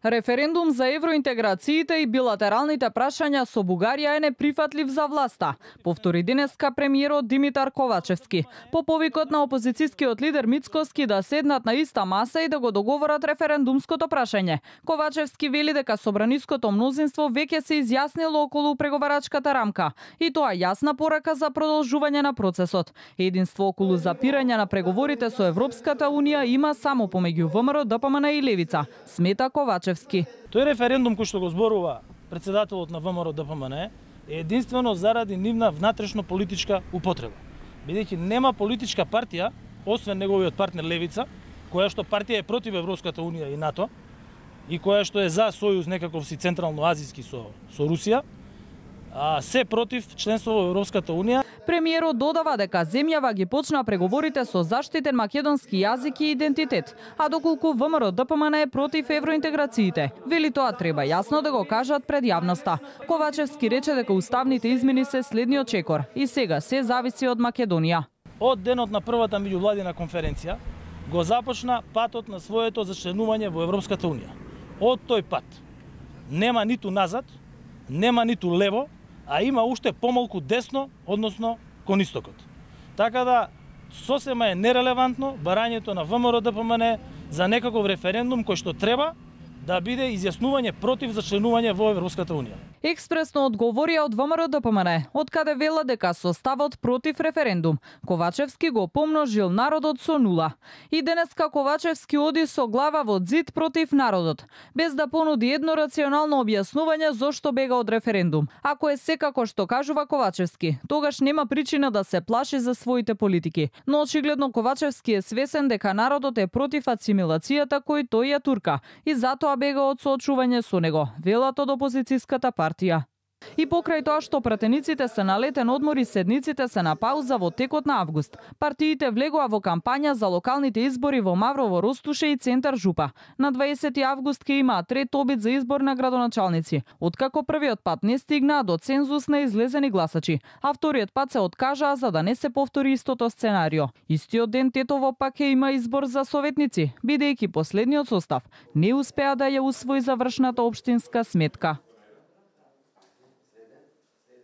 Референдум за евроинтеграциите и билатералните прашања со Бугарија е неприфатлив за власта, повтори денеска премиерот Димитар Ковачевски, по повикот на опозицијскиот лидер Мицкоски да седнат на иста маса и да го договорат референдумското прашање. Ковачевски вели дека собраниското мнозинство веќе се изјаснило околу преговарачката рамка и тоа јасна порака за продолжување на процесот. Единство околу запирање на преговорите со Европската унија има само помеѓу ВМРО, ДПМН и Левица, смета Ковачевски. Тој референдум кој што го зборува председателот на ВМРО ДПМН е единствено заради нивна внатрешно политичка употреба. Бидејќи нема политичка партија, освен неговиот партнер Левица, која што партија е против Европската унија и НАТО и која што е за сојуз некаков си централно-азиски со Русија, се против членство во Европската унија. Премиерот додава дека земјава ги почна преговорите со заштитен македонски јазик и идентитет, а доколку ВМРО ДПМН е против евроинтеграциите, вели тоа треба јасно да го кажат пред јавноста. Ковачевски рече дека уставните измени се следниот чекор и сега се зависи од Македонија. Од денот на првата меѓувладина конференција го започна патот на своето зачленување во Европската унија. Од тој пат нема ниту назад, нема ниту лево, а има уште помалку десно, односно кон истокот. Така да сосема е нерелевантно барањето на ВМРО ДПМН за некаков референдум кој што треба да биде изјаснување против зачленување во Европската унија. Експресно одговорија од ВМРО ДПМН, од каде вела дека со ставот против референдум, Ковачевски го помножил народот со 0. И денеска Ковачевски оди со глава во ѕид против народот, без да понуди едно рационално објаснување зошто бега од референдум. Ако е секако што кажува Ковачевски, тогаш нема причина да се плаши за своите политики. Но очигледно Ковачевски е свесен дека народот е против асимилацијата кој тој ја турка и затоа бега од соочување со него, велат од опозицијската партија. И покрај тоа што пратениците се на летен одмор и седниците се на пауза во текот на август, партиите влегоа во кампања за локалните избори во Маврово, Ростуше и Центар Жупа. На 20 август ќе имаат трет обид за избор на градоначалници, откако првиот пат не стигнаа до цензус на излезени гласачи, а вториот пат се откажаа за да не се повтори истото сценарио. Истиот ден Тетово пак ќе има избор за советници, бидејќи последниот состав не успеа да ја усвои завршната општинска сметка.